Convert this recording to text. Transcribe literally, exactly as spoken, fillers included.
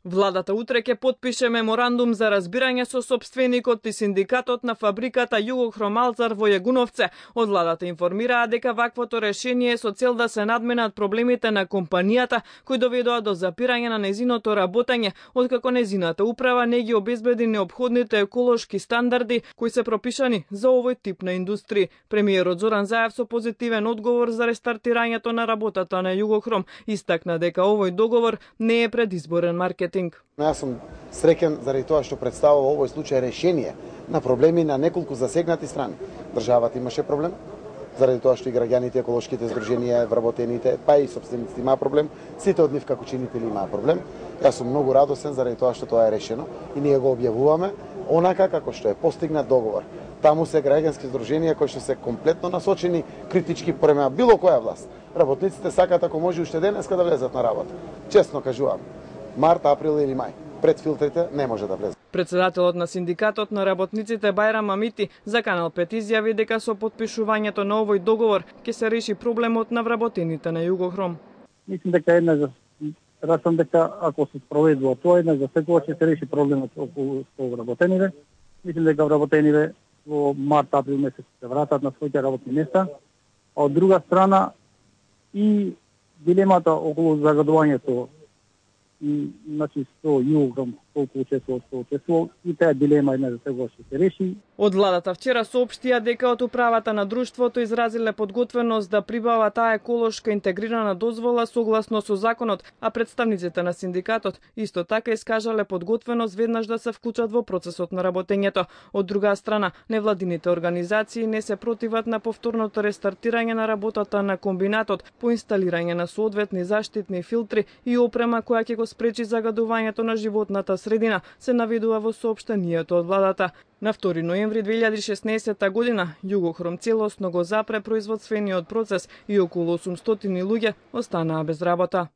Владата утре ќе потпише меморандум за разбирање со сопственикот и синдикатот на фабриката Југохром Алцар во Јагуновце. Од владата информираа дека ваквото решение е со цел да се надменат проблемите на компанијата кои доведоа до запирање на незиното работење, откако незината управа не ги обезбеди неопходните еколошки стандарди кои се пропишани за овој тип на индустрии. Премиерот Зоран Заев со позитивен одговор за рестартирањето на работата на Југохром истакна дека овој договор не е предизборен маркетинг. Јас сум среќен заради тоа што представува овој случај решение на проблеми на неколку засегнати страни. Државата имаше проблем, заради тоа што и граѓаните, еколошките здруженија, вработените, па и сопствениците имаа проблем, сите од нив како чинители имаа проблем. Јас сум многу радосен заради тоа што тоа е решено и ние го објавуваме онака како што е постигнат договор. Таму се граѓански здруженија кои што се комплетно насочени критички према било која власт. Работниците сакаат ако може уште денеска да влезат на работа. Честно кажувам, март, април или мај. Пред филтрите не може да влезе. Председателот на синдикатот на работниците Бајрам Амити за Канал пет изјави дека со потпишувањето на овој договор ќе се реши проблемот на вработените на Југохром. Мислам дека една за расам дека ако се спроведува тоа една за секогаш ќе се реши проблемот околу вработените. Мислам дека вработените во март, април месец се вратат на своите работни места. А од друга страна и дилемата околу загадувањето и значи со Југохром колку учествува, што учествува, и таа дилема една за сега ќе се реши. Од владата вчера соопштија дека од управата на друштвото изразиле подготвеност да прибава таа еколошка интегрирана дозвола согласно со законот, а представниците на синдикатот исто така искажале подготвеност веднаш да се вклучат во процесот на работењето. Од друга страна, невладините организации не се противат на повторното рестартирање на работата на комбинатот по инсталирање на соодветни заштитни филтри и опрема која ќе го спречи загадувањето на животната средина, се наведува во соопштението од владата. На втори ноември две илјади и шеснаесетта година Југохром целосно го запре производствениот процес и околу осумстотини луѓе останаа без работа.